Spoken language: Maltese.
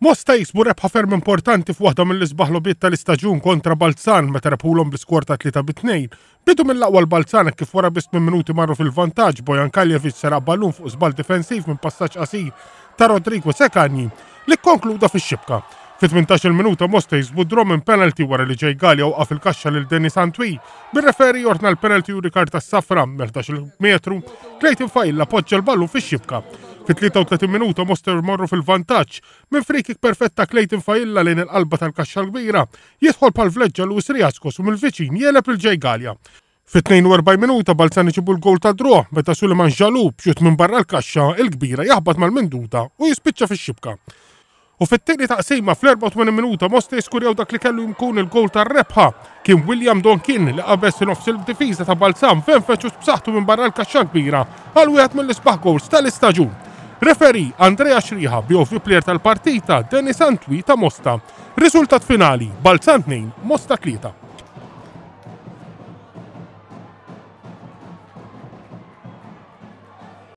Mosta jiksbu rebħa ferm importanti f'waħda mill-isbaħ logħbiet tal-istaġun kontra Balzan meta rebħulhom bl-iskor ta' 3 bi 2. Bidu mill-aqwa l-Balzan hekk kif wara biss minn minuti marru fil-vantaġġ Bojan Kaljevic seraq ballun fuq żball difensiv minn passaġġ qasir ta' Rodrigo Sekagni li kkonkluda fix-xibka. Fit-18-il minuta Mosta jiksbu draw minn penalty wara li Jay Galea waqaf il-kaxxa lil Denis Antwi bir-referi jordna l-penalty u rikarta s-safra mill-11 metru Clayton Failla poġġa l-ballun fix-xibka. Fit-33 minuta Mosta jmorru fil-vantaġġ minn free-kick perfett ta' Clayton Failla lejn il-qalba tal-kaxxa l-kbira, jidħol bħal vleġġa Luis Riascos u mill-viċin jegħleb lil Jay Galea. Fit-42 minuta Balzan iġibu l-gowl tad-draw meta Suleiman Jalou b'xutt minn barra l-kaxxa l-kbira jaħbat mal-minduta u jispiċċa fix-xibka. U fit-tieni taqsima fl-84 minuta Mosta jiskurjaw dak li kellu jkun il-gowl tar-rebħa. Kien William Donkin li qabeż nofs il-difiża ta' Balzan f'enfeċ u b'saħħtu minn barra l-kaxxa kbira għal wieħed mill-isbaħ gowls tal-istaġun. Referee Andrea Xriħa, BOV player tal-partita Denis Antwi ta' Mosta. Riżultat finali, Balzan 2, Mosta 3.